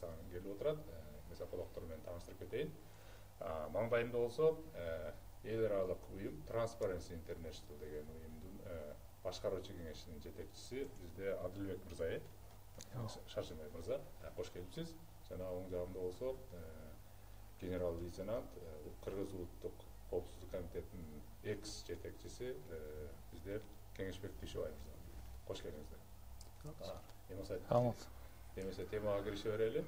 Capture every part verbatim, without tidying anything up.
жасаган келип отурат. Мезополоктор менен тааныштырып кетейин. Маңдайымда болсо эл аралык уюм Transparency International деген уюмдун башкаруучу кеңешинин жетекчиси бизде Адылбек мырза, э? Шаршембай мырза, кош келипсиз. Жана оң жагымда болсо генерал-лейтенант Кыргыз улуттук коопсуздук комитетинин экс жетекчиси бизде Кеңешбек Дүйшөбай мырза. Кош келиңиздер. Эмесе темага кирише берели.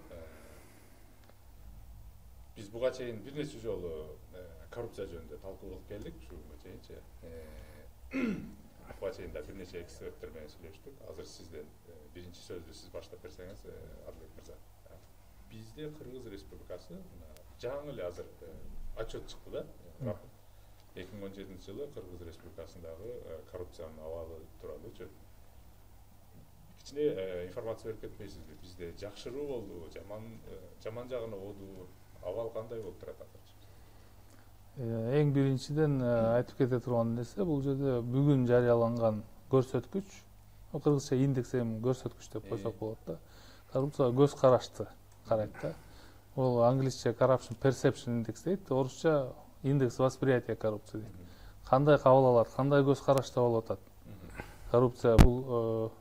Биз буга чейин бир нече жолу коррупция жөнүндө талкуу кылып келдик, ушуга чейинчи. Буга чейин да бир нече эксперттер менен сүйлөштүк. Азыр сизден биринчи сөздү сиз баштап берсеңиз, Адылбек мырза. Бизде Кыргыз Республикасы жаңы эле азыр отчет чыкты да. эки миң он жетинчи жылы Кыргыз Республикасындагы коррупциянын абалы тууралуу кичине информация берип кетпейсизби? Бизде жакшыруу болдубу, жаман жаман жагына болдубу? Абал кандай болуп турат азыр? Эң биринчиден айтып кете турган нерсе, бул жерде бүгүн жарыяланган көрсөткүч, кыргызча индекс эми көрсөткүч деп койсок болот да. Коррупцияга көз карашты карайт да. Ол англисче corruption perception index дейт, орусча индекс восприятия коррупции дейт. Кандай кабыл алат, кандай көз карашта болуп атат? Коррупция бул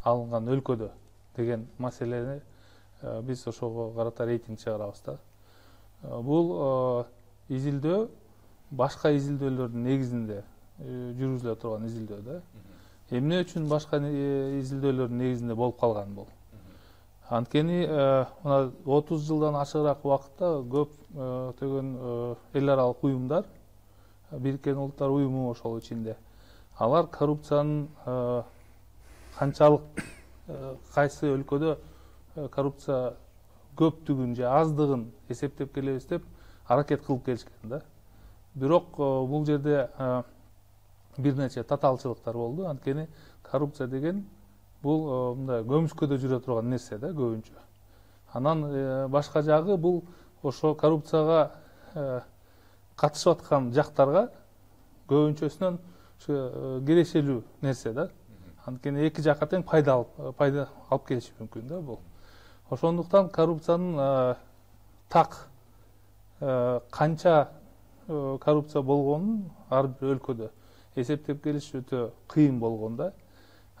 алынган өлкөдө деген маселени биз ошого карата рейтинг чыгарабыз да. Бул изилдөө башка изилдөөлөрдүн негизинде жүргүзүлө турган изилдөө да. Эмне үчүн башка изилдөөлөрдүн негизинде болуп калган бул? Анткени мына отуз жылдан ашыгыраак убакытта көптөгөн эл аралык уюмдар, Бириккен Улуттар уюму ошол ичинде, алар коррупциянын канчалык кайсы өлкөдө коррупция көптүгүн же аздыгын эсептеп келебиз деп аракет кылып келишкен да. Бирок бул жерде бир нече татаалчылыктар болду. Анткени коррупция деген бул мындай көмүскөдө жүрө турган нерсе да көбүнчө. Анан башка жагы бул ошо коррупцияга катышып аткан жактарга көбүнчөсүнөн кирешелүү нерсе да. Анткени эки жакка тең пайда алып пайда алып келиши мүмкүн да бул. Ошондуктан коррупциянын так канча коррупция болгонун ар бир өлкөдө эсептеп келиш өтө кыйын болгон да.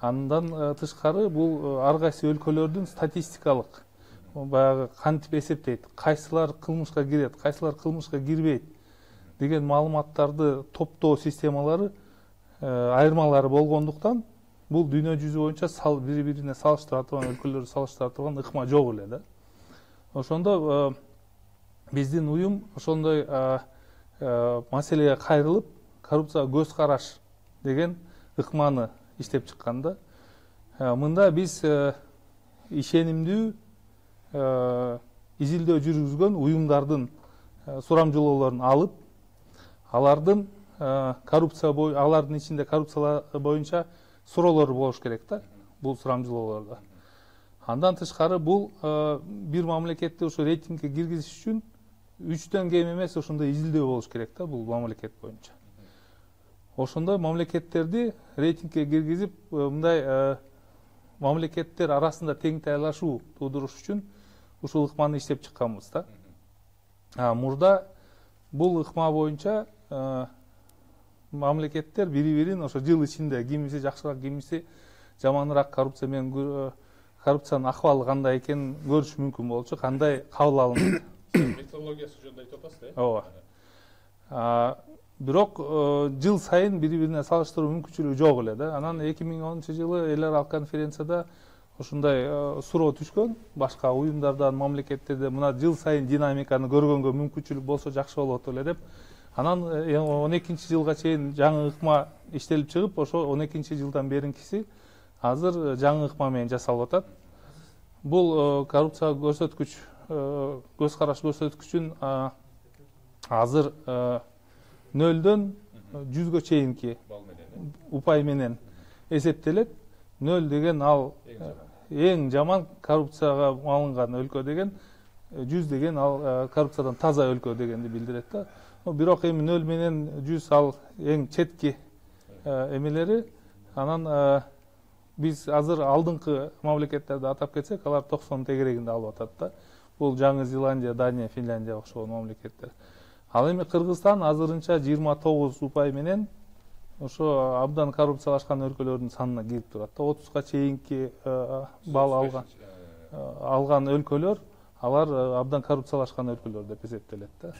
Андан тышкары бул ар кайсы өлкөлөрдүн статистикалык баягы кантип эсептейт, кайсылар кылмышка кирет, кайсылар кылмышка кирбейт деген маалыматтарды топтоо системалары айырмалары болгондуктан бул дүйнө жүзү боюнча бири бирине салыштыра турган, өлкөлөрдү салыштыра турган ыкма жок эле да. Ошондо биздин уюм ошондой маселеге кайрылып, коррупцияга көз караш деген ыкманы иштеп чыккан да. Мында биз ишенимдүү изилдөө жүргүзгөн уюмдардын сурамжылоолорун алып, алардын коррупция бою, алардын ичинде коррупциялар боюнча суроолор болуш керек да, бул сурамжылоолордо. Андан тышкары бул бир мамлекетти ушу рейтингге киргизиш үчүн үчтөн кем эмес ошондой изилдөө болуш керек да, бул мамлекет боюнча. Ошондой мамлекеттерди рейтингге киргизип, мындай мамлекеттер арасында тең тайлашуу туудуруш үчүн ушул ыкманы иштеп чыкканбыз да. Мурда бул ыкма боюнча мамлекеттер бири-бирин ошо жыл ичинде кимиси жакшыраак, кимиси жаманыраак коррупция менен коррупциянын акыбалы кандай экенин көрүш мүмкүн болчу, кандай кабыл алынды. Методологиясы жөнүндө айтып атасыз, э? Ооба. Бирок жыл сайын бири-бирине салыштыруу мүмкүнчүлүгү жок эле да. Анан эки миң онунчу жылы эл аралык конференцияда ушундай суроо түшкөн, башка уюмдардан, мамлекеттерде мына жыл сайын динамиканы көргөнгө мүмкүнчүлүк болсо жакшы болот эле деп. Анан он экинчи жылга чейин жаңы ыкма иштелип чыгып, ошо он экинчи жылдан беринкиси азыр жаңы ыкма менен жасалып атат. Бул коррупция көрсөткүч, көз караш көрсөткүчүн азыр нөлдөн жүзгө чейинки упай менен эсептелет. Нөл деген ал эң жаман коррупцияга алынган өлкө деген, жүз деген ал коррупциядан таза өлкө дегенди билдирет да. Бирок эми нөл менен жүз ал эң четки эмелери. Анан биз азыр алдыңкы мамлекеттерди атап кетсек, алар токсон тегерегинде алып атат да. Бул Жаңы Зеландия, Дания, Финляндия окшогон мамлекеттер. Ал эми Кыргызстан азырынча жыйырма тогуз упай менен ошо абдан коррупциялашкан өлкөлөрдүн санына кирип турат да. отузга чейинки балл алган алган өлкөлөр, алар абдан коррупциялашкан өлкөлөр деп эсептелет да.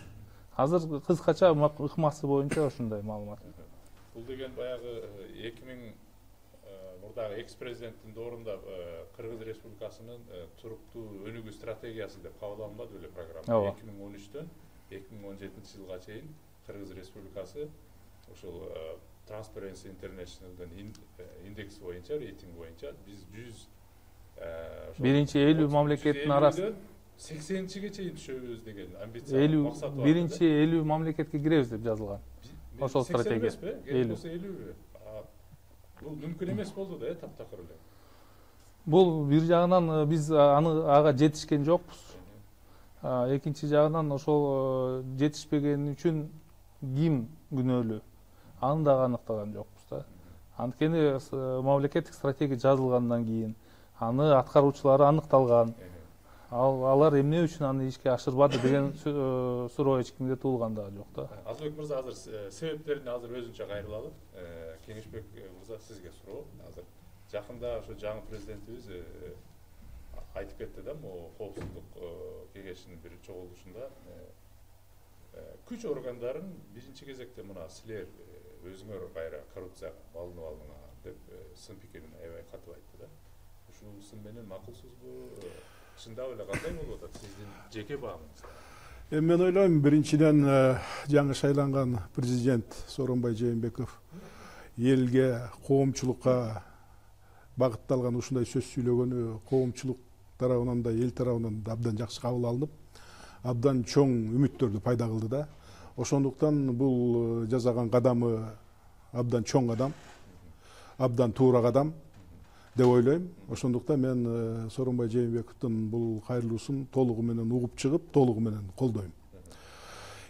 Азыр кыскача ыкмасы боюнча ошондой маалымат. Бул деген баягы эки миң мурдагы экс-президенттин доорунда Кыргыз Республикасынын туруктуу өнүгүү стратегиясы деп кабыл алынбады беле программа. эки миң он үчтөн эки миң он жетинчи жылга чейин Кыргыз Республикасы ошол Transparency International'дын индекси боюнча, рейтинг боюнча биз жүз биринчи элүү мамлекеттин арасында сексенинчиге чейин түшөбүз деген амбициялуу максат бар. биринчи элүү мамлекетке киребиз деп жазылган. Ошол стратегия. элүү. Бул мүмкүн эмес болду да, таптакыр эле. Бул бир жагынан биз аны ага жетишкен жокпуз. Экинчи жагынан ошол жетишпеген үчүн ким күнөөлүү? Аны да аныктаган жокпуз да. Анткени мамлекеттик стратегия жазылгандан кийин аны аткаруучулары аныкталган. Ал алар эмне үчүн аны ишке ашырбады деген суроо эч кимде туулган да жок да. Азырбек мырза, азыр себептерине азыр өзүнчө кайрылалы. Кеңешбек мырза, сизге суроо. Азыр жакында ошо жаңы президентибиз айтып кетти да, могу коопсуздук кеңешинин бир чогулушунда күч органдарын биринчи кезекте мына силер өзүңөр кайра коррупцияга балынып алдыңар деп сын пикирин аябай катып айтты да. Ушул сын менен макулсузбу? Чындап эле кандай болуп атат сиздин жеке баамыңыз? Эми мен ойлойм, биринчиден жаңы шайланган президент Сооронбай Жээнбеков элге, коомчулукка багытталган ушундай сөз сүйлөгөнү коомчулук тарабынан да, эл тарабынан да абдан жакшы кабыл алынып, абдан чоң үмүттөрдү пайда кылды да. Ошондуктан бул жасаган кадамы абдан чоң кадам, абдан туура кадам деп ойлойм. Ошондуктан мен Сооронбай Жээнбековдун бул кайрылуусун толугу менен угуп чыгып, толугу менен колдойм.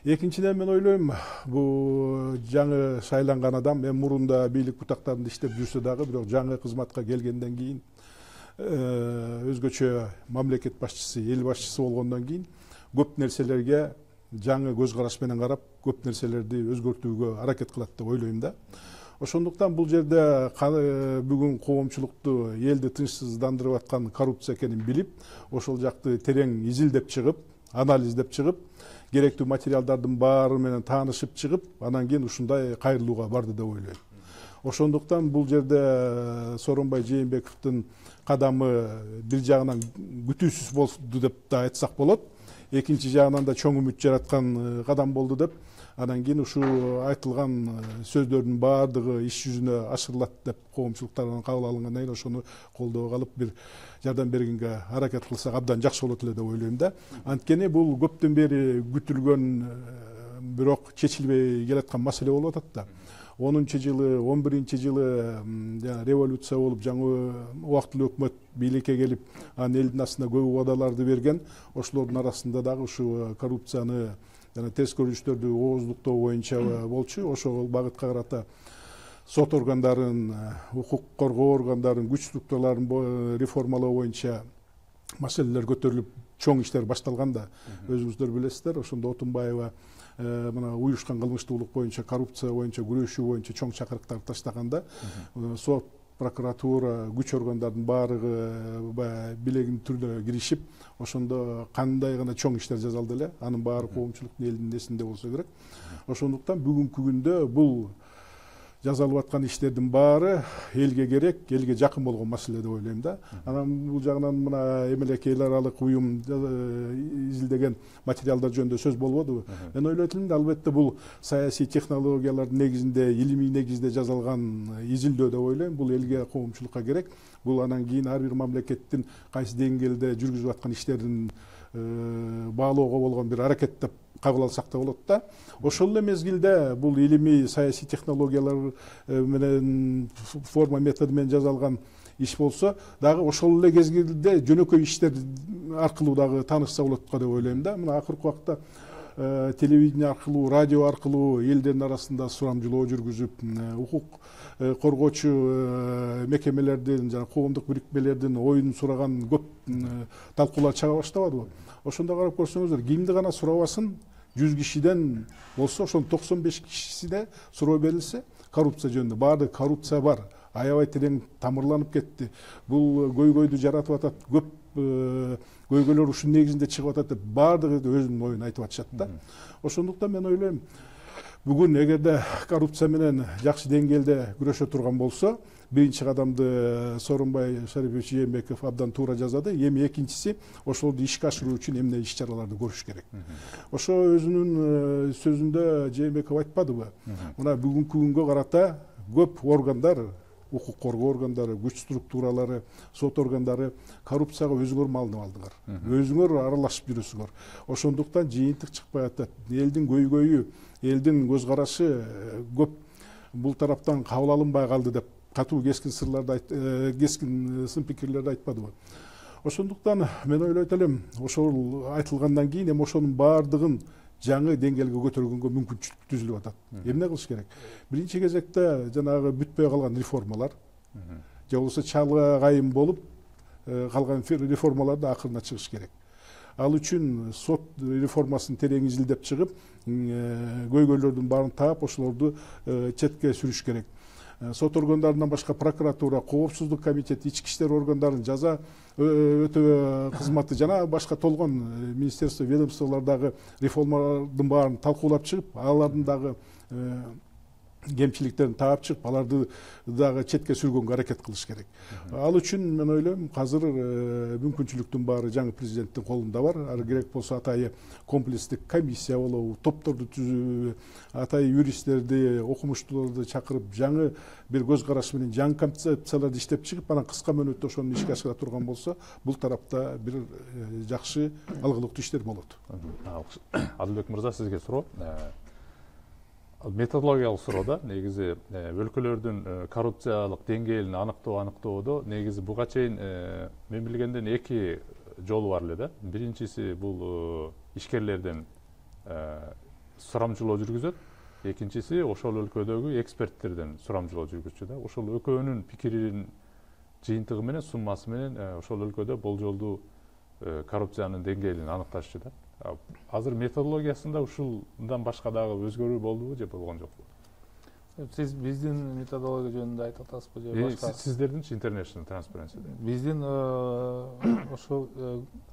Экинчиден мен ойлойм, бул жаңы шайланган адам, эми мурунда бийлик бутактарында иштеп жүрсө дагы, бирок жаңы кызматка келгенден кийин өзгөчө мамлекет башчысы, эл башчысы болгондон кийин көп нерселерге жаңы көз караш менен карап, көп нерселерди өзгөртүүгө аракет кылат деп ойлойм да. Ошондуктан бул жерде бүгүн коомчулукту, элди тынчсыздандырып аткан коррупция экенин билип, ошол жакты терең изилдеп чыгып, анализдеп чыгып, керектүү материалдардын баары менен таанышып чыгып, анан кийин ушундай кайрылууга барды деп ойлойм. Ошондуктан бул жерде Сооронбай Жээнбековдун кадамы бир жагынан күтүүсүз болду деп да айтсак болот. Экинчи жагынан да чоң үмүт жараткан кадам болду деп, анан кийин ушул айтылган сөздөрдүн баардыгы иш жүзүнө ашырылат деп коомчулук тарабынан кабыл алынгандан кийин ошону колдоо калып бир жардам бергенге аракет кылсак абдан жакшы болот эле деп ойлойм да. Анткени бул көптөн бери күтүлгөн, бирок чечилбей келаткан маселе болуп атат да. онунчу жылы, он биринчи жылы революция болуп, жаңы убактылуу өкмөт бийликке келип, анын элдин астына көп убадаларды берген. Ошолордун арасында дагы ушу коррупцияны жана терс көрүнүштөрдү ооздуктоо боюнча болчу. Ошол багытка карата сот органдарын, укук коргоо органдарын, күч структураларын реформалоо боюнча маселелер көтөрүлүп, чоң иштер башталган да. Өзүңүздөр билесиздер, ошондо Отунбаева мына уюшкан кылмыштуулук боюнча, коррупция боюнча күрөшүү боюнча чоң чакырыктарды таштаганда, сот, прокуратура, күч органдардын баарыгы билегин түрдө киришип, ошондо кандай гана чоң иштер жасалды эле, анын баары коомчулуктун элдин эсинде болсо керек. Ошондуктан бүгүнкү күндө бул жасалып аткан иштердин баары элге керек, элге жакын болгон маселе деп ойлойм да. Анан бул жагынан мына эмелек эл аралык уюм изилдеген материалдар жөнүндө сөз болбодубу? Мен ойлойт элем, албетте бул саясий технологиялардын негизинде, илимий негизде жасалган изилдөө деп ойлойм. Бул элге, коомчулукка керек. Бул анан кийин ар бир мамлекеттин кайсы деңгээлде жүргүзүп аткан иштерин баалоого болгон бир аракет деп кабыл алсак да болот да. Ошол эле мезгилде бул илимий саясий технологиялар менен форма методу менен жасалган иш болсо дагы ошол эле мезгилде жөнөкөй иштер аркылуу дагы таанышса болот го деп ойлойм да. Мына акыркы убакта телевидение аркылуу, радио аркылуу элдердин арасында сурамжылоо жүргүзүп, укук коргоочу мекемелердин жана коомдук бирикмелердин оюн сураган көп талкуулар чыга баштабадыбы? Ошондо карап көрсөңүздөр, кимди гана сурабасын, жүз кишиден болсо ошонун токсон беш кишисине суроо берилсе, коррупция жөнүндө баардык коррупция бар, аябай терең тамырланып кетти. Бул көйгөйдү жаратып атат, көп көйгөйлөр ушун негизинде чыгып атат деп баардыгы өзүнүн оюн айтып атышат да. Ошондуктан мен ойлойм, бүгүн эгерде коррупция менен жакшы деңгээлде күрөшө турган болсо, биринчи кадамды Сооронбай Шарипович Жээнбеков абдан туура жасады. Эми экинчиси ошолорду ишке ашыруу үчүн эмне иш чараларды көрүш керек. Ошо өзүнүн сөзүндө Жээнбеков айтпадыбы? Мына бүгүнкү күнгө карата көп органдар, укук коргоо органдары, күч структуралары, сот органдары коррупцияга өзүңөр малынып алдыңар. Өзүңөр аралашып жүрөсүңөр. Ошондуктан жыйынтык чыкпай атат. Элдин көйгөйү, элдин көз карашы көп бул тараптан кабыл алынбай калды деп катуу кескин сырларды кескин сын пикирлерди айтпадыбы? Ошондуктан мен ойлойт элем, ошол айтылгандан кийин эми ошонун баардыгын жаңы деңгээлге көтөргөнгө мүмкүнчүлүк түзүлүп атат. Эмне кылыш керек? Биринчи кезекте жанагы бүтпөй калган реформалар, же болбосо чалга кайым болуп калган реформаларды акырына чыгыш керек. Ал үчүн сот реформасын терең изилдеп чыгып, көйгөйлөрдүн баарын таап, ошолорду четке сүрүш керек. Сот органдарынан башка прокуратура, коопсуздук комитети, ички иштер органдарынын жаза өтөө кызматы жана башка толгон министерство, ведомстволордогу реформалардын баарын талкуулап чыгып, алардын дагы кемчиликтерин таап чыгып, аларды дагы четке сүргөнгө аракет кылыш керек. Ал үчүн мен ойлойм, азыр мүмкүнчүлүктүн баары жаңы президенттин колунда бар. Ары керек болсо атайы комплекстик комиссия болобу, топторду түзүүбү, атайы юристтерди, окумуштууларды чакырып, жаңы бир көз караш менен жаңы концепцияларды иштеп чыгып, анан кыска мөөнөттө ошону ишке ашыра турган болсо, бул тарапта бир жакшы алгылыктуу иштер болот. Адылбек мырза, сизге суроо. Методологиялык суроо, негизи өлкөлөрдүн коррупциялык деңгээлин аныктоо аныктоодо негизи буга чейин мен билгенден эки жолу бар эле да. Биринчиси бул ишкерлерден сурамжылоо жүргүзөт, экинчиси ошол өлкөдөгү эксперттерден сурамжылоо жүргүзчү да. Ошол экөөнүн пикиринин жыйынтыгы менен, суммасы менен ошол өлкөдө болжолдуу коррупциянын деңгээлин аныкташчу да. Азыр методологиясында ушундан башка дагы өзгөрүү болдубу же болгон жокпу? Сиз биздин методология жөнүндө айтып атасызбы же башка? Сиздердинчи International Transparency? Биздин ошол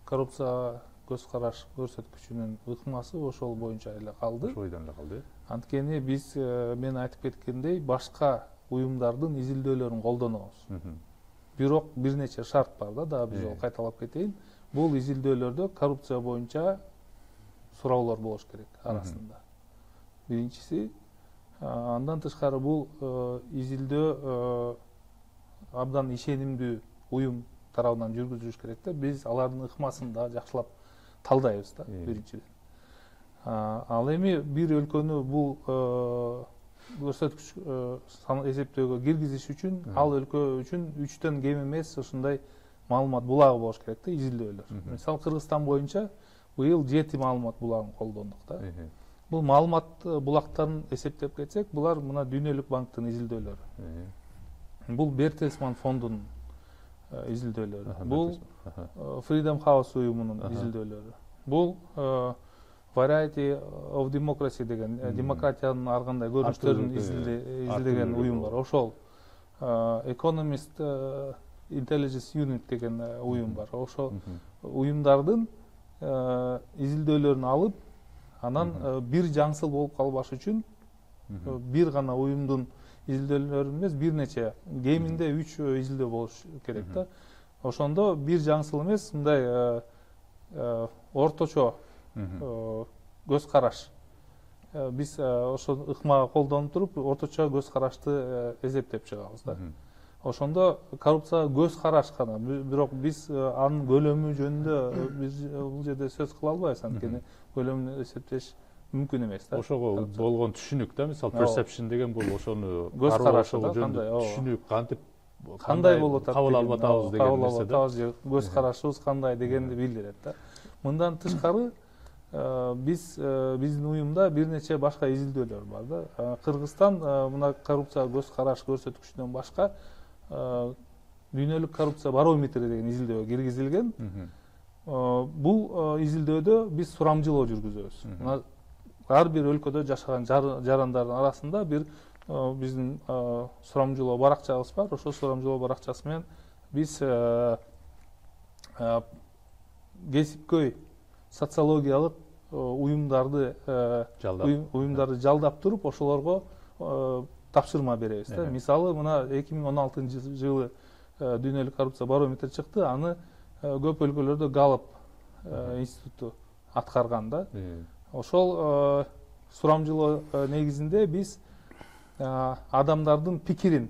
коррупция көз караш көрсөткүчүнүн ыкмасы ошол боюнча эле калды. Ошол бойдон эле калды. Анткени биз мен айтып кеткендей башка уюмдардын изилдөөлөрүн колдонобуз. Бирок бир нече шарт бар да, дагы бир жолу кайталап кетейин. Бул изилдөөлөрдө коррупция боюнча суроолор болуш керек арасында. Биринчиси, андан тышкары бул изилдөө абдан ишенимдүү уюм тарабынан жүргүзүлүш керек да. Биз алардын ыкмасын да жакшылап талдайбыз да, биринчиден. Ал эми бир өлкөнү бул көрсөткүч эсептөөгө киргизиш үчүн, ал өлкө үчүн үчтөн кем эмес ушундай маалымат булагы болуш керек да, изилдөөлөр. Мисалы Кыргызстан боюнча быйыл жети маалымат булагын колдондук да. Бул маалымат булактарын эсептеп кетсек, булар мына Дүйнөлүк банктын изилдөөлөрү. Бул Бертельсман фондунун изилдөөлөрү. Бул Freedom House уюмунун изилдөөлөрү. Бул Variety of Democracy деген демократиянын ар кандай көрүнүштөрүн изилдеген уюм бар. Ошол Economist Intelligence Unit деген уюм бар. Ошол уюмдардын изилдөөлөрүн алып, анан бир жаңсыл болуп калбаш үчүн бир гана уюмдун изилдөөлөрүн эмес, бир нече, кеминде үч изилдөө болуш керек да. Ошондо бир жаңсыл эмес, мындай орточо көз караш. Биз ошол ыкмага колдонуп туруп, орточо көз карашты эсептеп чыгабыз да. Ошондо коррупция көз караш гана, бирок биз анын көлөмү жөнүндө биз бул жерде сөз кыла албайбыз, анткени көлөмүн эсептеш мүмкүн эмес да. Ошого болгон түшүнүк да, мисалы perception деген бул ошону көз карашы да, кандай түшүнүк кантип кандай болуп атат, кабыл алып атабыз деген нерсе да. Көз карашыбыз кандай дегенди билдирет да. Мындан тышкары биз биздин уюмда бир нече башка изилдөөлөр бар да. Кыргызстан мына коррупцияга көз караш көрсөткүчүнөн башка дүйнөлүк коррупция барометри деген изилдөөгө киргизилген. Бул изилдөөдө биз сурамжылоо жүргүзөбүз. Мына ар бир өлкөдө жашаган жарандардын арасында бир биздин сурамжылоо баракчабыз бар. Ошол сурамжылоо баракчасы менен биз кесипкөй социологиялык уюмдарды уюмдарды жалдап туруп ошолорго тапшырма беребиз да. Мисалы мына эки миң он алтынчы жылы дүйнөлүк коррупция барометри чыкты. Аны көп өлкөлөрдө Галлап институту аткарган да. Ошол сурамжылоо негизинде биз адамдардын пикирин,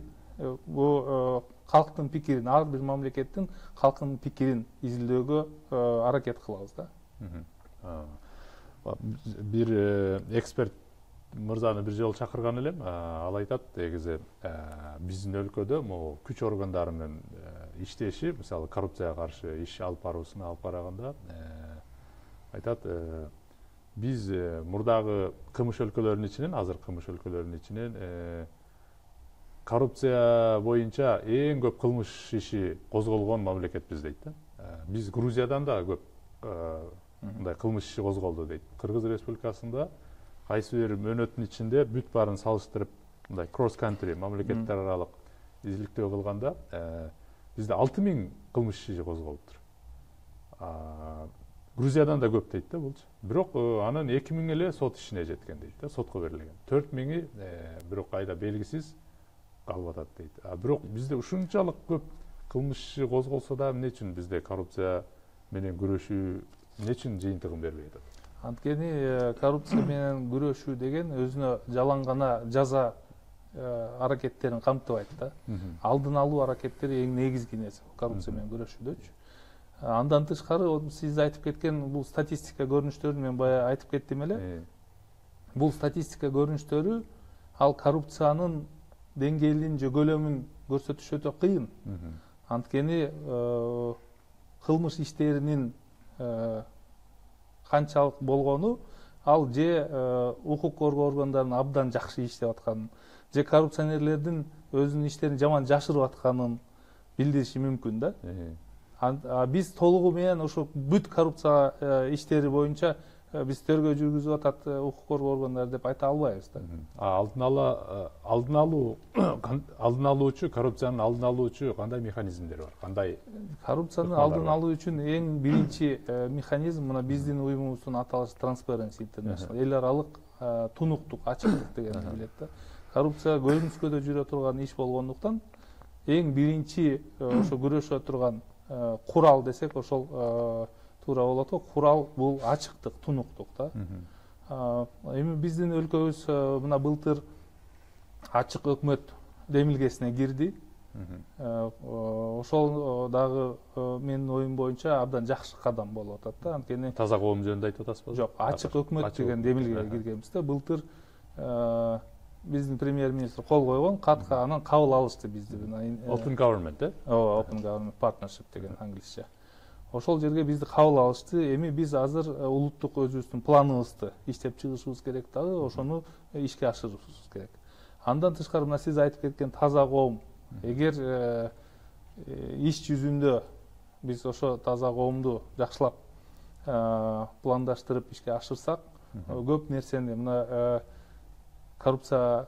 бул калктын пикирин, ар бир мамлекеттин калкынын пикирин изилдөөгө аракет кылабыз да. Бир эксперт мырзаны бир жолу чакырган элем. Ал айтат, негизи биздин өлкөдө могу күч органдары менен иштеши, мисалы коррупцияга каршы иш алып баруусуна алып караганда айтат, биз мурдагы кымыш өлкөлөрүнүн ичинен, азыр кымыш өлкөлөрүнүн ичинен коррупция боюнча эң көп кылмыш иши козголгон мамлекетпиз дейт да. Биз Грузиядан да көп мындай кылмыш иши козголду дейт. Кыргыз Республикасында кайсы бир мөөнөттүн ичинде бүт баарын салыштырып мындай кросс country мамлекеттер аралык изиликтөө кылганда бизде алты миң кылмыш иши козголуптур. Грузиядан да көп дейт да булчу. Бирок анын эки миң эле сот ишине жеткен дейт да, сотко берилген. төрт миңи бирок кайда белгисиз калып атат дейт. А бирок бизде ушунчалык көп кылмыш иши козголсо да эмне үчүн бизде коррупция менен күрөшүү эмне үчүн жыйынтыгын бербей атат? Анткени коррупция менен күрөшүү деген өзүнө жалаң гана жаза аракеттерин камтыбайт да. Алдын алуу аракеттери эң негизги нерсе коррупция менен күрөшүүдөчү. Андан тышкары сиз айтып кеткен бул статистика көрүнүштөрүн мен бая айтып кеттим эле. Бул статистика көрүнүштөрү ал коррупциянын деңгээлин же көлөмүн көрсөтүш өтө кыйын. Анткени кылмыш иштеринин канчалык болгону ал же укук коргоо органдарынын абдан жакшы иштеп атканын, же коррупционерлердин өзүнүн иштерин жаман жашырып атканын билдириши мүмкүн да. Биз толугу менен ошо бүт коррупция иштери боюнча биз тергөө жүргүзүп атат укук коргоо органдары деп айта албайбыз да. Алдын ала алдын алуу алдын алуучу коррупциянын алдын алуучу кандай механизмдери бар? Кандай коррупцияны алдын алуу үчүн эң биринчи механизм мына биздин уюмубуздун аталышы Transparency International, эл аралык тунуктук, ачыктык дегенди билет да. Коррупция көрүнүскөдө жүрө турган иш болгондуктан эң биринчи ошо күрөшө турган курал десек ошол туура болот го. Курал бул ачыктык, тунуктук да. Эми биздин өлкөбүз мына былтыр ачык өкмөт демилгесине кирди. Ошол дагы менин оюм боюнча абдан жакшы кадам болуп атат да. Анткени таза коом жөнүндө айтып атасызбы? Жок, ачык өкмөт деген демилгеге киргенбиз да. Былтыр биздин премьер-министр кол койгон, катка анан кабыл алышты бизди. Open Government, э? Ооба, Open Government Partnership деген англисче. Ошол жерге бизди кабыл алышты. Эми биз азыр улуттук өзүбүздүн планыбызды иштеп чыгышыбыз керек дагы, ошону ишке ашырышыбыз керек. Андан тышкары мына сиз айтып кеткен таза коом, эгер иш жүзүндө биз ошо таза коомду жакшылап пландаштырып ишке ашырсак, көп нерсени мына коррупция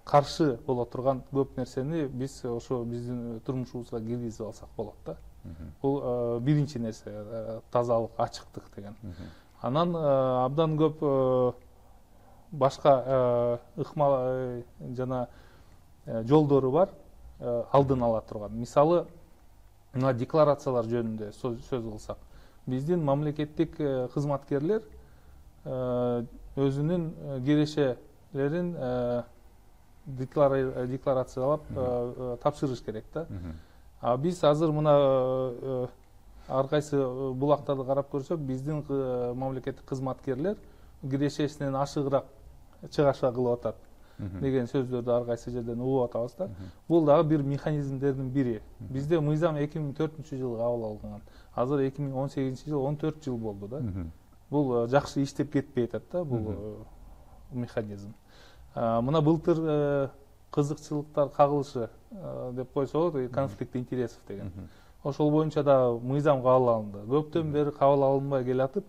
каршы боло турган көп нерсени биз ошо биздин турмушубузга киргизип алсак болот да. Бул биринчи нерсе, тазалык, ачыктык деген. Анан абдан көп башка ыкма жана жолдору бар алдын ала турган. Мисалы, мына декларациялар жөнүндө сөз кылсак, биздин мамлекеттик кызматкерлер өзүнүн кирешелерин декларациялап тапшырыш керек да. А биз азыр мына ар кайсы булактарды карап көрсөк, биздин мамлекеттик кызматкерлер кирешесинен ашыгыраак чыгашка кылып атат. деген сөздөрдү ар кайсы жерден угуп атабыз да. Бул дагы бир механизмдердин бири. Бизде мыйзам эки миң төртүнчү жылы кабыл алынган. Азыр эки миң он сегизинчи жыл он төрт жыл болду да. Бул жакшы иштеп кетпей атат да бул механизм. Мына былтыр кызыкчылыктар кагылышы деп койсо болот, конфликт интересов деген. Ошол боюнча да мыйзам кабыл алынды. Көптөн бери кабыл алынбай келатып,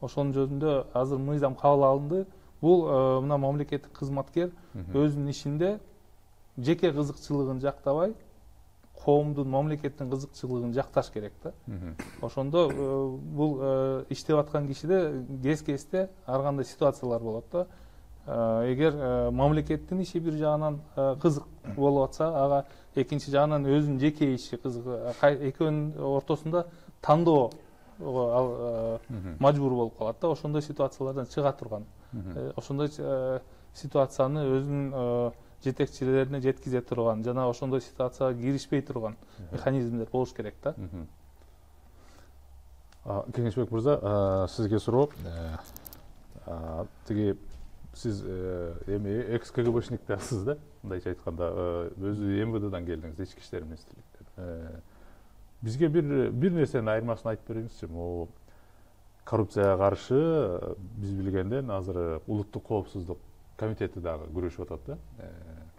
ошонун жөнүндө азыр мыйзам кабыл алынды. Бул мына мамлекеттик кызматкер өзүнүн ишинде жеке кызыкчылыгын жактабай, коомдун, мамлекеттин кызыкчылыгын жакташ керек да. Ошондо бул иштеп аткан кишиде кез-кезде ар кандай ситуациялар болот да. Эгер мамлекеттин иши бир жагынан кызык болуп атса, ага экинчи жагынан өзүнүн жеке иши кызык, экөөнүн ортосунда тандоо мажбур болуп калат да. Ошондой ситуациялардан чыга турган, ошондой ситуацияны өзүнүн жетекчилерине жеткизе турган жана ошондой ситуацияга киришпей турган механизмдер болуш керек да. Кеңешбек мырза, сизге суроо. Тиги сиз эми экс КГБшник дасыз да, мындайча айтканда, өзү эм вэ дэдан келдиңиз, ички иштер министрликтен. Бизге бир бир нерсенин айырмасын айтып бериңизчи. Могу коррупцияга каршы биз билгенден азыр улуттук коопсуздук комитети дагы күрөшүп атат да.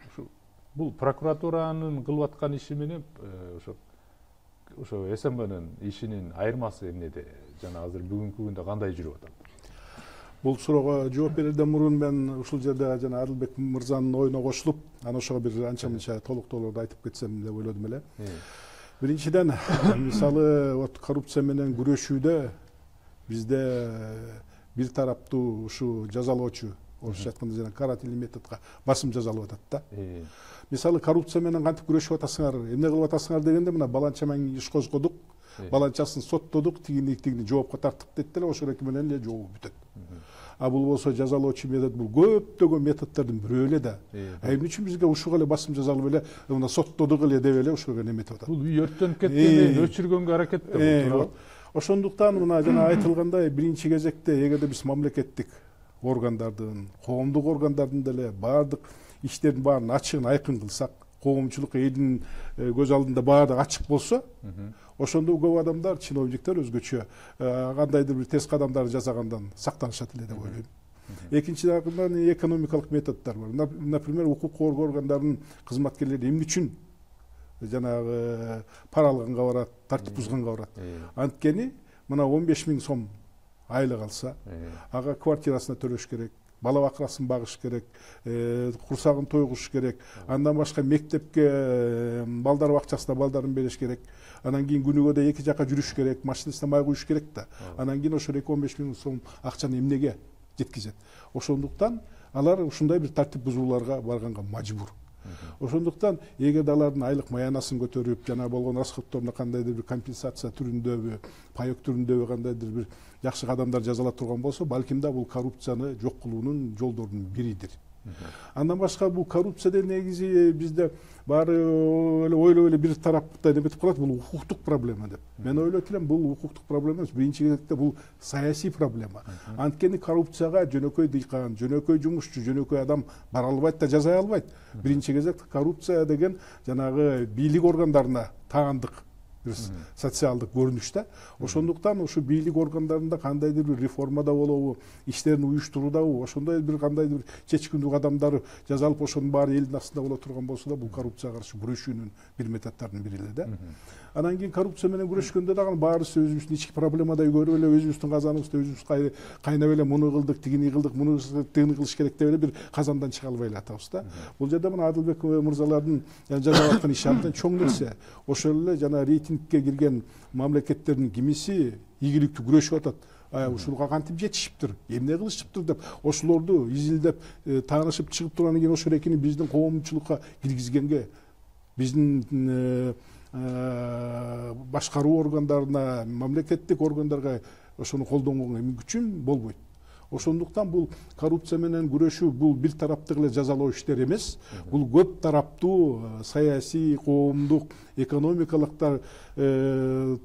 Ушу бул прокуратуранын кылып аткан иши менен ошо ошо эс эм бнын ишинин айырмасы эмнеде жана азыр бүгүнкү күндө кандай жүрүп атат? Бул суроого жооп берерден мурун мен ушул жерде жана Адылбек мырзанын оюна кошулуп, анан ошого бир анча мынча толуктоолорду айтып кетсем деп ойлодум эле. Биринчиден, мисалы, вот коррупция менен күрөшүүдө бизде бир тараптуу ушу жазалоочу, орусча айтканда жана карательный методко басым жасалып атат да. Мисалы, коррупция менен кантип күрөшүп атасыңар, эмне кылып атасыңар дегенде, мына баланча менен иш козгодук, баланчасын соттодук, тигини тигини жоопко тарттык дейт эле, ошол эки менен эле жообу бүтөт. А бул болсо жазалоочу метод, бул көптөгөн методдордун бирөө эле да. А эмне үчүн бизге ушуга эле басым жасалып эле, мына соттодук эле деп эле ушуга неметип атат. Бул үй өрттөнүп кеткенден өчүргөнгө аракеттеп. Ошондуктан мына жана айтылгандай, биринчи кезекте эгерде биз мамлекеттик органдардын, коомдук органдардын деле баардык иштердин баарын ачыгын айкын кылсак, коомчулук элдин көз алдында баардыгы ачык болсо, ошондо көп адамдар, чиновниктер өзгөчө кандайдыр бир терс кадамдарды жасагандан сактанышат эле деп ойлойм. Экинчи жагынан экономикалык методдор бар. Например, укук коргоо органдарынын кызматкерлери эмне үчүн жанагы пара алганга барат, тартип бузганга барат? Анткени мына он беш миң сом айлык алса, ага квартирасына төлөш керек, бала бакырасын багыш керек, курсагын тойгуш керек, андан башка мектепке, балдар бакчасына балдарын бериш керек, анан кийин күнүгө да эки жака жүрүш керек, машинасына май куюш керек да. Анан кийин ошо эки он беш миң сом акчаны эмнеге жеткизет? Ошондуктан алар ушундай бир тартип бузууларга барганга мажбур. Ошондуктан эгерде алардын айлык маянасын көтөрүп, жана болгон расходторуна кандайдыр бир компенсация түрүндөбү, паек түрүндөбү кандайдыр бир жакшы кадамдар жасала турган болсо, балким да бул коррупцияны жок кылуунун жолдорунун биридир. Андан башка бул коррупция негизи бизде баары эле ойлоп эле бир тарапта неметип калат, бул укуктук проблема деп. Мен ойлойт элем, бул укуктук проблема эмес, биринчи кезекте бул саясий проблема. Анткени коррупцияга жөнөкөй дыйкан, жөнөкөй жумушчу, жөнөкөй адам бара албайт да жасай албайт. Биринчи кезекте коррупция деген жанагы бийлик органдарына таандык социалдык көрүнүш да. Ошондуктан ушу бийлик органдарында кандайдыр бир реформада болобу, иштерин уюштуруудабы, ошондой бир кандайдыр бир чечкиндүү кадамдар жасалып, ошонун баары элдин астында боло турган болсо да, бул коррупцияга каршы күрөшүүнүн бир методдорунун бири эле да. Анан кийин коррупция менен күрөшкөндө дагы баарыбыз өзүбүздүн ички проблемадай көрүп эле, өзүбүздүн казаныбызды өзүбүз кайнап эле муну кылдык, тигини кылдык, муну тигини кылыш керек деп эле бир казандан чыга албай эле атабыз да. Бул жерде мына Адылбек мырзалардын жасап аткан иши абдан чоң нерсе. Ошол эле жана рейтингке кирген мамлекеттердин кимиси ийгиликтүү күрөшүп атат. Ушуга кантип жетишиптир, эмне кылышыптыр деп, ошолорду изилдеп, таанышып чыгып тургандан кийин ошол экини биздин коомчулукка киргизгенге, биздин башкаруу органдарына, мамлекеттик органдарга ошону колдонгонго эми күчүм болбойт. Ошондуктан бул коррупция менен күрөшүү бул бир тараптык эле жазалоо иштер эмес, бул көп тараптуу саясий, коомдук, экономикалык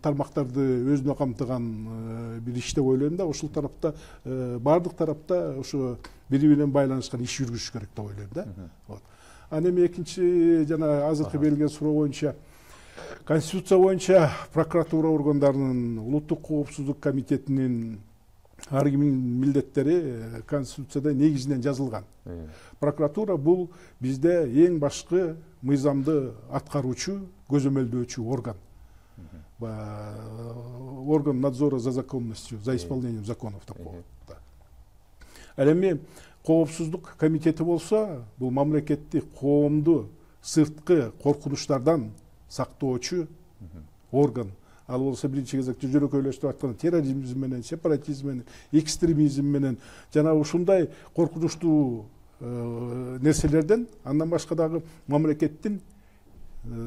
тармактарды өзүнө камтыган бир иш деп ойлойм да. Ошол тарапта баардык тарапта ошо бири менен байланышкан иш жүргүзүш керек деп ойлойм да. Вот. Анан эми экинчи жана азыркы берилген суроо боюнча Конституция боюнча прокуратура органдарынын, улуттук коопсуздук комитетинин ар кимдин милдеттери Конституцияда негизинен жазылган. Прокуратура бул бизде эң башкы мыйзамды аткаруучу, көзөмөлдөөчү орган. Орган надзора за законностью, за исполнением законов такого. Ал эми коопсуздук комитети болсо, бул мамлекеттик коомду сырткы коркунучтардан сактоочу орган. Ал болсо биринчи кезекте жөнөкөйлөштүрүп айтканда терроризм менен, сепаратизм менен, экстремизм менен жана ушундай коркунучтуу нерселерден, андан башка дагы мамлекеттин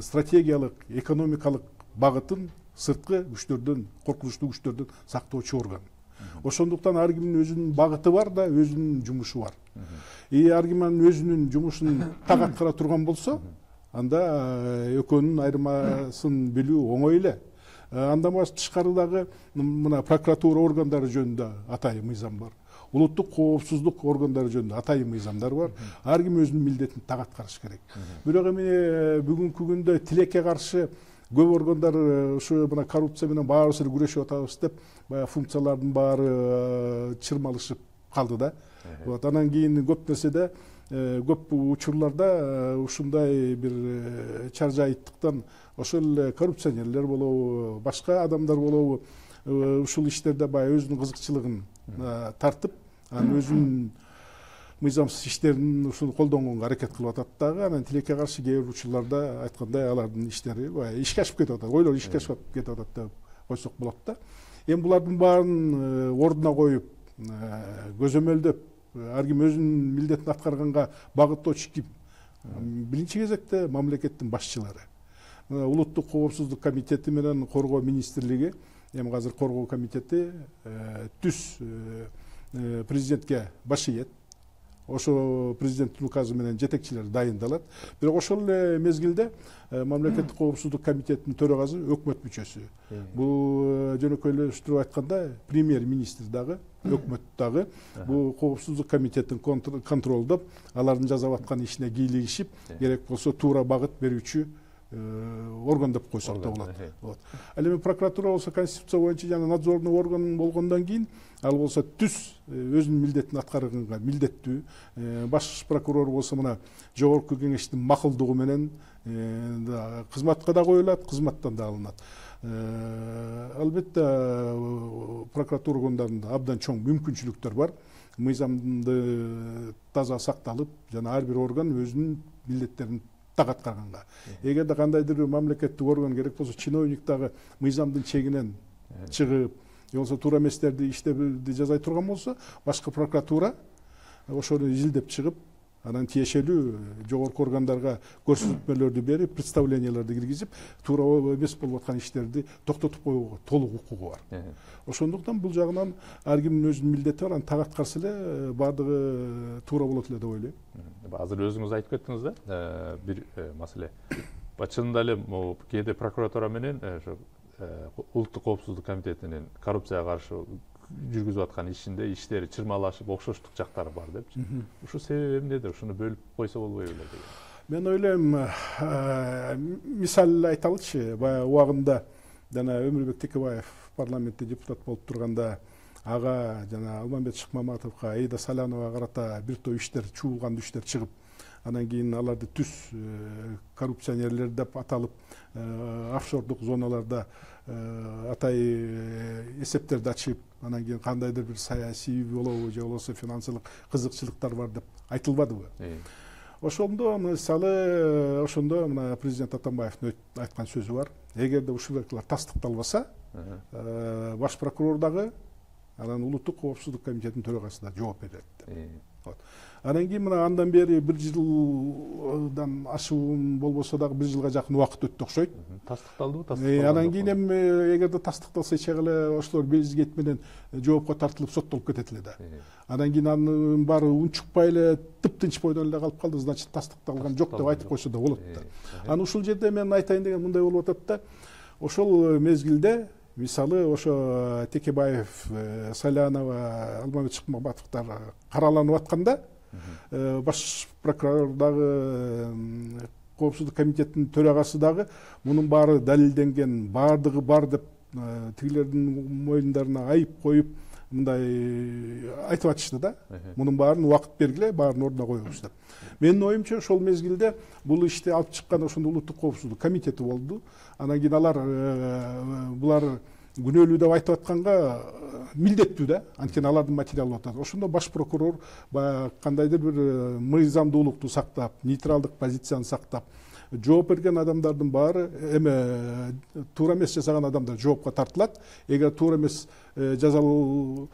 стратегиялык, экономикалык багытын сырткы күчтөрдөн, коркунучтуу күчтөрдөн сактоочу орган. Ошондуктан ар кимдин өзүнүн багыты бар да, өзүнүн жумушу бар. И ар ким өзүнүн жумушун так аткара турган болсо, анда экөөнүн айырмасын билүү оңой эле. Андан башка тышкары дагы мына прокуратура органдары жөнүндө атайын мыйзам бар. Улуттук коопсуздук органдары жөнүндө атайын мыйзамдар бар. Ар ким өзүнүн милдетин так аткарыш керек. Бирок эми бүгүнкү күндө тилекке каршы көп органдар ушу мына коррупция менен баарыбыз эле күрөшүп атабыз деп, баягы функциялардын баары чырмалышып калды да. Вот анан кийин көп нерседе, көп учурларда ушундай бир чаржайыттыктан ошол коррупционерлер болобу, башка адамдар болобу, ушул иштерде баягы өзүнүн кызыкчылыгын тартып, анан өзүнүн мыйзамсыз иштерин ушуну колдонгонго аракет кылып атат дагы. Анан тилекке каршы кээ бир учурларда айткандай алардын иштери баягы ишке ашып кетип атат, ойлор ишке ашып кетип атат деп койсок болот да. Эми булардын баарын ордуна коюп, көзөмөлдөп, ар ким өзүнүн милдетин аткарганга багыттоочу ким? Биринчи кезекте мамлекеттин башчылары. Улуттук коопсуздук комитети менен коргоо министрлиги, эми азыр коргоо комитети түз президентке баш ийет. Ошо президенттин указы менен жетекчилер дайындалат. Бирок ошол эле мезгилде мамлекеттик коопсуздук комитетинин төрагасы өкмөт мүчөсү. Бул жөнөкөйлөштүрүп айтканда премьер-министр дагы, өкмөт дагы бул коопсуздук комитетин контролдоп, алардын жасап аткан ишине кийлигишип, керек болсо туура багыт берүүчү орган деп койсок да болот. Вот. Ал эми прокуратура болсо Конституция боюнча жана надзорный орган болгондон кийин, ал болсо түз өзүнүн милдетин аткарганга милдеттүү. Баш прокурор болсо мына жогорку кеңештин макулдугу менен кызматка да коюлат, кызматтан да алынат. Албетте прокуратура органдарында абдан чоң мүмкүнчүлүктөр бар. Мыйзамды таза сакталып, жана ар бир орган өзүнүн милдеттерин так аткарганга. Эгерде кандайдыр мамлекеттик орган керек болсо, чиновник дагы мыйзамдын чегинен чыгып, же болбосо туура эместерди иштерди жасай турган болсо, башкы прокуратура ошону изилдеп чыгып, анан тиешелүү жогорку органдарга көрсөтмөлөрдү берип, представленияларды киргизип, туура эмес болуп аткан иштерди токтотуп коюуга толук укугу бар. Ошондуктан бул жагынан ар кимдин өзүнүн милдети бар, аны так аткарса эле баардыгы туура болот эле деп ойлойм. Азыр өзүңүз айтып кеттиңиз да, бир маселе. Чынында эле кээде прокуратура менен ошо улуттук коопсуздук комитетинин коррупцияга каршы жүргүзүп аткан ишинде иштери чырмалашып, окшоштук жактары бар депчи. Ушу себеби эмнеdir? Ушуну бөлүп койсо болбойбу эле деген. Мен ойлойм, мисал айталычы, баягы убагында жана Өмүрбек Текебаев парламентте депутат болуп турганда, ага жана Алмамбет Шыкмаматовго, Аида Саляновага карата бир топ иштер, чуулган иштер чыгып, анан кийин аларды түз коррупционерлер деп аталып, офшордук зоналарда атай эсептерди ачып, анан кийин кандайдыр бир саясий болобу, же болбосо финансылык кызыкчылыктар бар деп айтылбадыбы? Ошондо мисалы, ошондо мына президент Атамбаевдин айткан сөзү бар. Эгерде ушулар тастыкталбаса, баш прокурор дагы, анан улуттук коопсуздук комитетинин төрагасы да жооп берет деп. Анан кийин мына андан бери бир жылдан ашуун болбосо дагы бир жылга жакын убакыт өттү окшойт. Тастыкталдыбы, тастыкталбадыбы? Анан кийин эми эгерде тастыкталса эч эле ошолор безгет менен жоопко тартылып соттолуп кетет эле да. Анан кийин анын баары унчукпай эле тыптынч бойдон эле калып калды, значит тастыкталган жок деп айтып койсо да болот да. Анан ушул жерде мен айтайын деген мындай болуп атат да, ошол мезгилде мисалы ошо Текебаев, Салянова, Алмамет Шыкмамбатовдор караланып атканда баш прокурор дагы коопсуздук комитетинин төрагасы дагы мунун баары далилденген, баардыгы бар деп тигилердин мойнундарына айып коюп мындай айтып атышты да. Мунун баарын убакыт бергиле, баарын ордуна коебуз деп. Менин оюмча ошол мезгилде бул ишти алып чыккан ошондо улуттук коопсуздук комитети болду. Анан кийин алар булар күнөөлүү деп айтып атканга милдеттүү да, анткени алардын материалы атат. Ошондо баш прокурор баягы кандайдыр бир мыйзамдуулукту сактап, нейтралдык позицияны сактап, жооп берген адамдардын баары эме туура эмес жасаган адамдар жоопко тартылат. Эгер туура эмес жазалуу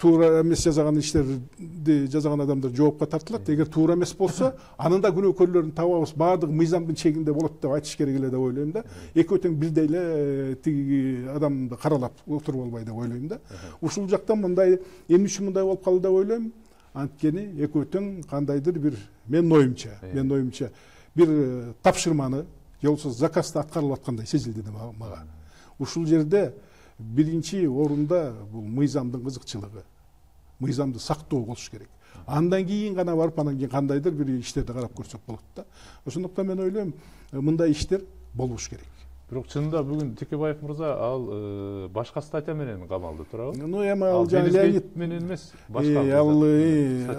туура эмес жазаган иштерди жазаган адамдар жоопко тартылат. Эгер туура эмес болсо, анын да күнөөкөрлөрүн табабыз, баардыгы мыйзамдын чегинде болот деп айтыш керек эле деп ойлойм да. Экөө тең бирдей эле тиги адамды каралап отуруп албай деп ойлойм да. Ушул жактан мындай эмне үчүн мындай болуп калды деп ойлойм. Анткени экөө тең кандайдыр бир менин оюмча, менин оюмча бир тапшырманы же болбосо заказды аткарылып аткандай сезилди мага. Ушул жерде биринчи орунда бул мыйзамдын кызыкчылыгы, мыйзамды сактоо болуш керек. Андан кийин гана барып, анан кийин кандайдыр бир иштерди карап көрсөк болот да. Ошондуктан мен ойлойм, мындай иштер болуш керек. Бирок чынында бүгүн Текебаев мырза ал башка статья менен камалды, туурабы? Ну эми ал жана Леонид менен эмес, башка. Ал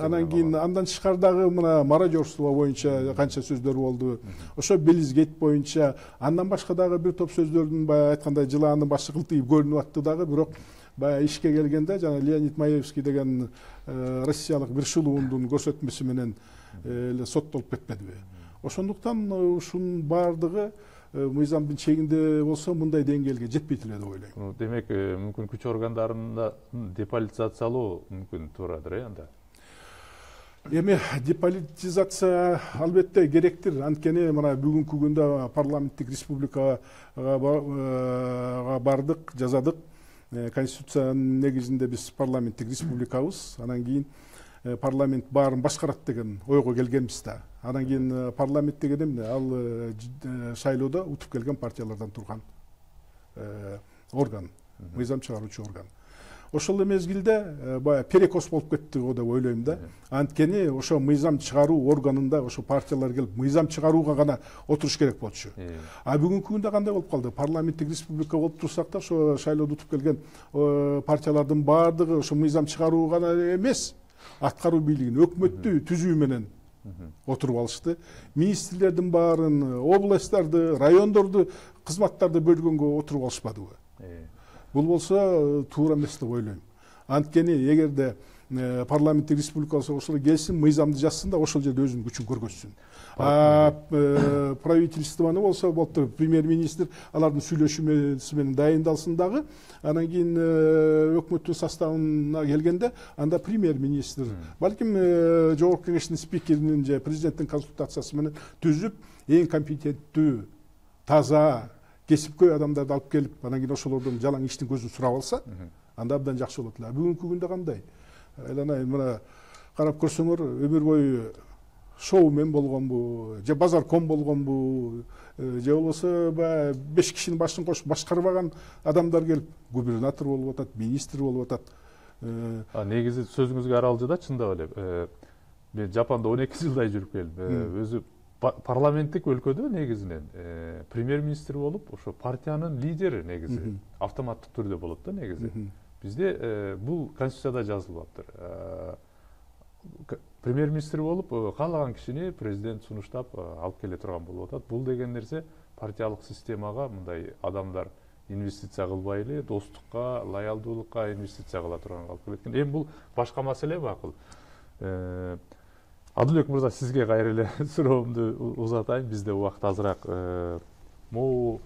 анан кийин андан тышкардагы мына мародерство боюнча канча сөздөр болду. Ошо Белизгейт боюнча, андан башка дагы бир топ сөздөрдүн баягы айткандай жылаанын башы кылтыйып көрүнүп атты дагы, бирок баягы ишке келгенде жана Леонид Маевский деген россиялык бир шулуундун көрсөтмөсү менен эле соттолуп кетпедиби? Ошондуктан ушунун баардыгы мыйзамдын чегинде болсо мындай деңгээлге жетпейт эле деп ойлойм. Демек, мүмкүн күч органдарында деполитизациялоо мүмкүн туурадыр, э, анда? Эми деполитизация албетте керектир. Анткени мына бүгүнкү күндө парламенттик республикага бардык, жазадык. Конституциянын негизинде биз парламенттик республикабыз. Анан кийин парламент баарын башкарат деген ойго келгенбиз да. Анан кийин парламент деген эмне? Ал шайлоодо утуп келген партиялардан турган орган, мыйзам чыгаруучу орган. Ошол эле мезгилде баягы перекос болуп кетти го деп ойлойм да. Анткени ошо мыйзам чыгаруу органында ошо партиялар келип мыйзам чыгарууга гана отуруш керек болчу. А бүгүнкү күндө кандай болуп калды? Парламенттик республика болуп турсак да, ошо шайлоодо утуп келген партиялардын баардыгы ошо мыйзам чыгаруу гана эмес, аткаруу бийлигин, өкмөттү түзүү менен отуруп алышты. Министрлердин баарын, областтарды, райондорду, кызматтарды бөлгөнгө отуруп алышпадыбы? Бул болсо туура эмес деп ойлойм. Анткени эгерде парламенттик республика болсо ошол келсин, мыйзамды жазсын да ошол жерде өзүнүн күчүн көргөзсүн. А правительствону болсо болуптур, премьер-министр алардын сүйлөшмөсү менен дайындалсын дагы, анан кийин өкмөттүн составына келгенде анда премьер-министр, балким жогорку кеңештин спикеринин же президенттин консультациясы менен түзүп, эң компетенттүү, таза, кесипкөй адамдарды алып келип, анан кийин ошолордун жалаң иштин көзүн сурап алса, анда абдан жакшы болот эле. Бүгүнкү күндө кандай? Айланайын, мына карап көрсөңөр, өмүр бою шоумен болгонбу, же базарком болгонбу, же болбосо баягы беш кишинин башын кошуп башкарбаган адамдар келип губернатор болуп атат, министр болуп атат. Негизи сөзүңүзгө аралжы да, чындап эле. Мен Жапанда он эки жылдай жүрүп келдим. Өзү парламенттик өлкөдө негизинен премьер-министр болуп, ошо партиянын лидери негизи автоматтык түрдө болот да негизи. Бизде бул конституцияда жазылып атат. Премьер-министр болуп, каалаган кишини президент сунуштап алып келе турган болуп атат. Бул деген нерсе партиялык системага мындай адамдар инвестиция кылбай эле достукка, лоялдуулукка инвестиция кыла турган алып келет экен. Эми бул башка маселе бакыл. Адылбек мырза, сизге кайра эле суроомду узатайын. Бизде убакыт азыраак. Могу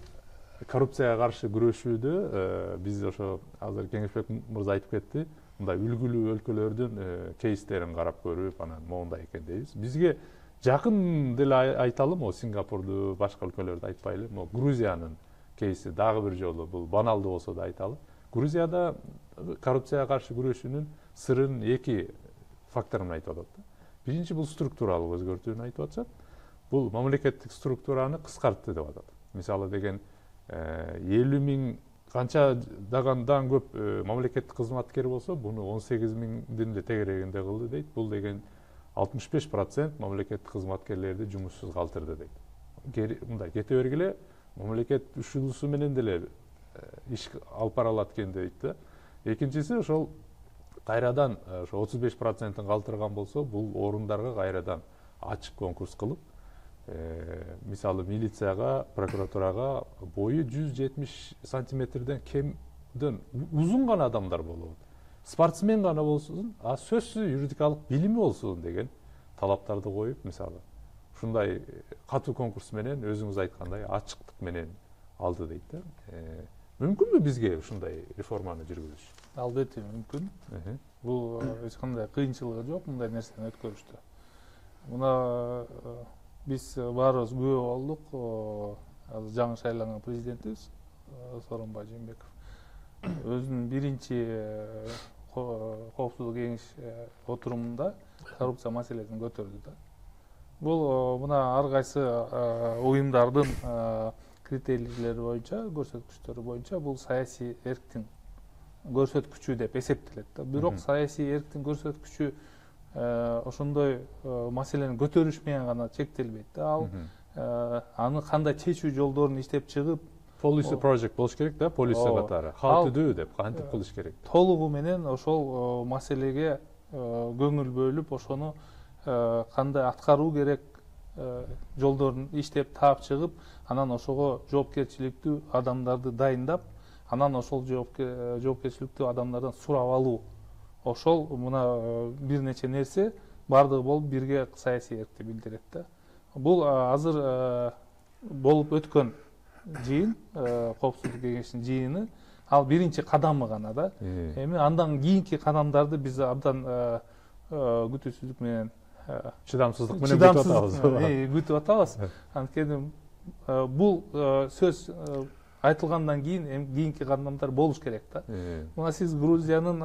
коррупцияга каршы күрөшүүдө биз ошо азыр Кеңешбек мырза айтып кетти. Мындай үлгүлүү өлкөлөрдүн кейстерин карап көрүп, анан моундай экен дейбиз. Бизге жакын деле айталы, могу Сингапурду, башка өлкөлөрдү айтпайлы. Могу Грузиянын кейси дагы бир жолу, бул баналдуу болсо да айталы. Грузияда коррупцияга каршы күрөшүүнүн сырын эки факторун айтып атат. Биринчи, бул структуралык өзгөртүүнү айтып атышат. Бул мамлекеттик структураны кыскартты деп атат. Мисалы деген элүү миң канча дагандан көп мамлекеттик кызматкер болсо буну он сегиз миңдин эле тегерегинде кылды дейт. Бул деген алтымыш беш процент мамлекеттик кызматкерлерди жумушсуз калтырды дейт. Мындай кете бергиле мамлекет ушунусу менен деле иш алып бара алат экен дейт да. Экинчиси ошол кайрадан ошо отуз беш процентин калтырган болсо, бул орундарга кайрадан ачык конкурс кылып, мисалы милицияга, прокуратурага бою жүз жетимиш сантиметрден кемден узун гана адамдар болобу. Спортсмен гана болсун, а сөзсүз юридикалык билими болсун деген талаптарды коюп, мисалы ушундай катуу конкурс менен өзүңүз айткандай ачыктык менен алды дейт да. Мүмкүнбү бизге ушундай реформаны жүргүзүш? Албетте мүмкүн. Бул эч кандай кыйынчылыгы жок мындай нерсени өткөрүштө. Мына биз баарыбыз күбө болдук. Азыр жаңы шайланган президентибиз Сооронбай Жээнбеков өзүнүн биринчи коопсуздук кеңеш отурумунда коррупция маселесин көтөрдү да. Бул мына ар кайсы уюмдардын критерийлери боюнча, көрсөткүчтөрү боюнча бул саясий эрктин көрсөткүчү деп эсептелет да. Бирок саясий эрктин көрсөткүчү ошондой маселени көтөрүш менен гана чектелбейт да. Ал аны кандай чечүү жолдорун иштеп чыгып, policy project болуш керек да, полиция катары. How to do деп кантип кылыш керек? Толугу менен ошол маселеге көңүл бөлүп, ошону кандай аткаруу керек жолдорун иштеп таап чыгып, анан ошого жоопкерчиликтүү адамдарды дайындап, анан ошол жоопкерчиликтүү адамдардан сурап алуу. Ошол мына бир нече нерсе бардыгы болуп бирге саясий эркти билдирет да. Бул азыр болуп өткөн жыйын, коопсуздук кеңешинин жыйыны, ал биринчи кадамы гана да. Эми андан кийинки кадамдарды биз абдан күтүүсүздүк менен, чыдамсыздык менен күтүп атабыз. Күтүп атабыз. Анткени бул сөз айтылгандан кийин кийинки кадамдар болуш керек да. Мына сиз Грузиянын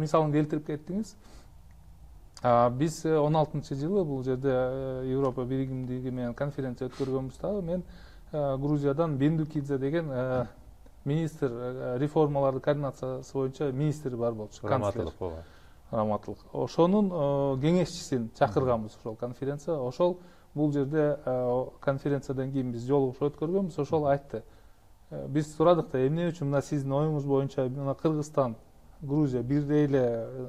мисалын келтирип кеттиңиз. Биз он алтынчы жылы бул жерде Европа биригимдиги менен конференция өткөргөнбүз. Мен Грузиядан Бендукидзе деген министр, реформаларды координациясы боюнча министр бар болчу, канцлер. Раматылык. Ошонун кеңешчисин чакырганбыз ошол конференция. Ошол бул жерде конференциядан кийин биз жолугушуу өткөргөнбүз. Ошол айтты. Биз сурадык да, эмне үчүн мына сиздин оюңуз боюнча мына Кыргызстан, Грузия бирдей эле,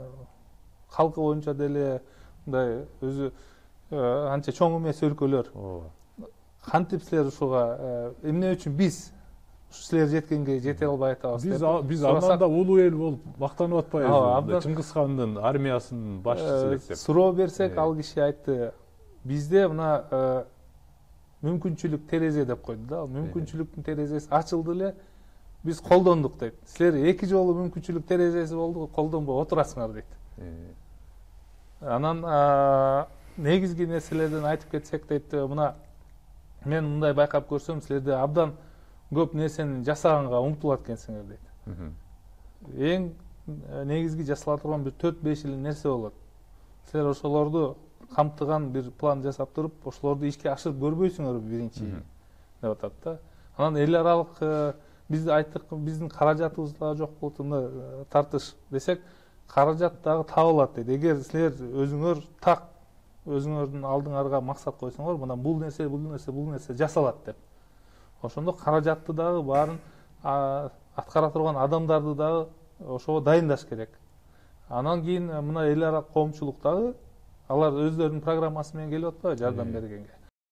калкы боюнча деле мындай өзү анча чоң эмес өлкөлөр. Кантип силер ушуга эмне үчүн биз силер жеткенге жете албай атабыз деп. Биз биз андан да улуу эл болуп мактанып атпайбызбы? Чыңгыз хандын армиясынын башчысы элек деп. Суроо берсек, ал киши айтты, бизде мына мүмкүнчүлүк терезе деп койду да. Мүмкүнчүлүктүн терезеси ачылды эле, биз колдондук дейт. Силер эки жолу мүмкүнчүлүк терезеси болду, колдонбой отурасыңар дейт. Анан негизги нерселерден айтып кетсек дейт, мына мен мындай байкап көрсөм, силерде абдан көп нерсени жасаганга умтулат экенсиңер дейт. Эң негизги жасала турган бир төрт беш эле нерсе болот. Силер ошолорду камтыган бир план жасап туруп, ошолорду ишке ашырып көрбөйсүңөрбү биринчи деп атат да. Анан эл аралык биз айттык, биздин каражатыбыз дагы жок болот, мына тартыш десек, каражат дагы табылат дейт. Эгер силер өзүңөр так өзүңөрдүн алдыңарга максат койсоңор, мына бул нерсе, бул нерсе, бул нерсе жасалат деп. Ошондо каражатты дагы баарын аткара турган адамдарды дагы ошого дайындаш керек. Анан кийин мына эл ара коомчулук дагы алар өздөрүнүн программасы менен келип атпайбы жардам бергенге.